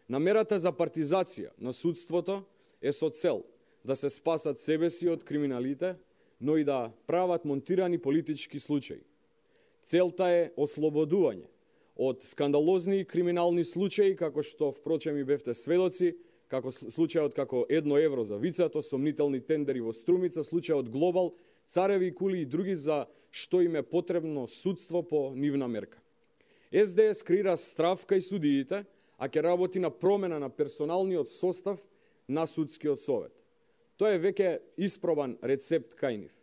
Намерата за партизација на судството е со цел да се спасат себе си од криминалите, но и да прават монтирани политички случаи. Целта е ослободување од скандалозни и криминални случаи, како што впрочем и бевте сведоци, како случајот како 1 евро за вицато, сомнителни тендери во Струмица, случајот Глобал, цареви кули и други за што им е потребно судство по нивна мерка. СДС креира страв кај судиите, а ќе работи на промена на персоналниот состав на судскиот совет. Тоа е веќе испробан рецепт кај нив.